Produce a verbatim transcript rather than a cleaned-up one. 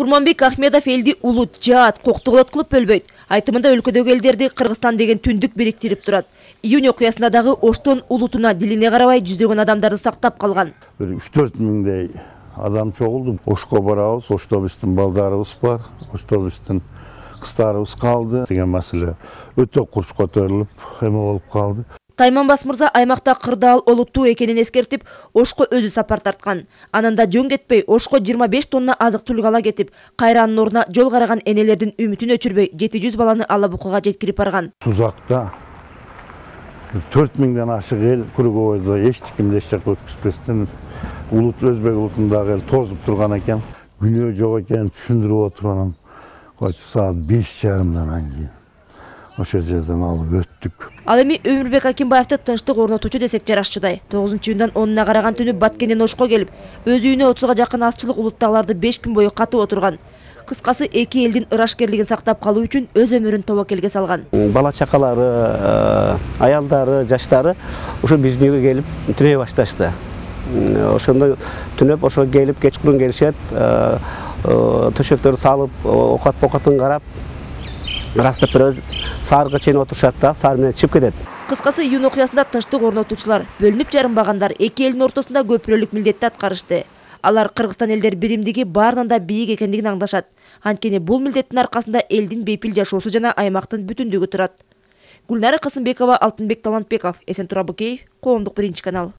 Курманбек Ахмедов элди улут, жаат, коктугулат кылып бөлбөйт. Айтымында өлкөдөгү элдерди Кыргызстан деген түндүк бириктирип турат. Июнь окуясында дагы Оштон улутуна, дилине карабай жүздөгөн адамдарды сактап калган. үч төрт миңдей адам чогулду. Ошко барабыз, Ошто биздин балдарыбыз бар, Ошто биздин кыздарыбыз калды деген маселе өтө курч көтөрүлүп, эме болуп калды. Тайманбас мырза аймакта кырдаал олуттуу экенин эскертип, Ошко өзү сапар тарткан. Ананда жөн кетпей, Ошко жыйырма беш тонна азык-түлүк ала кетип, кайра анын ордуна жол караган энелердин үмүтүн өчүрбөй жети жүз баланы ала букага жеткирип барган. Тузакта төрт миңден ашык эл Кургобойдо эч кимди эч жакка өткүзбөстөн улут өзбек улутундагы эл тозуп турган экен. Күнөө жок экенин түшүндүрүп отурган. Саат беш жарымдан кийин ошол жерден алып өттүк. Ал эми Өмүрбек Акимбаевди тынчтык орнотуучу десек жарашчудай. тогузунчу июндан онуна караган түнү Баткенден Ошко келип, өз үйүнө отузга жакын азчылык улуттагыларды беш күн бою катып отурган. Кыскасы эки элдин ырашкерлигин сактап калуу үчүн өз өмүрүн тобокелге салган. Бала чакалары, аялдары, жаштары ушу биздин үйгө келип түнөй башташты. Ошондо түнөп ошо келип кечкурун келишет, төшөктөрдү салып, окат-покатын карап, ырастап бирөөбүз саарга чейин отурушат да, саар менен чыгып кетет. Кыскасы июнь окуясында тынчтык орнотуучулар, бөлүнүп жарымбагандар эки элдин ортосунда көпүрөлүк милдетти аткарышты. Алар Кыргызстан элдер биримдиги баарынан да бийик экендигин аңдашат. Анткени бул милдеттин аркасында элдин бейпил жашоосу жана аймактын бүтүндүгү турат. Гүлнара Касымбекова, Алтынбек Талантбеков, Эсен Турабыкеев, Коомдук биринчи канал.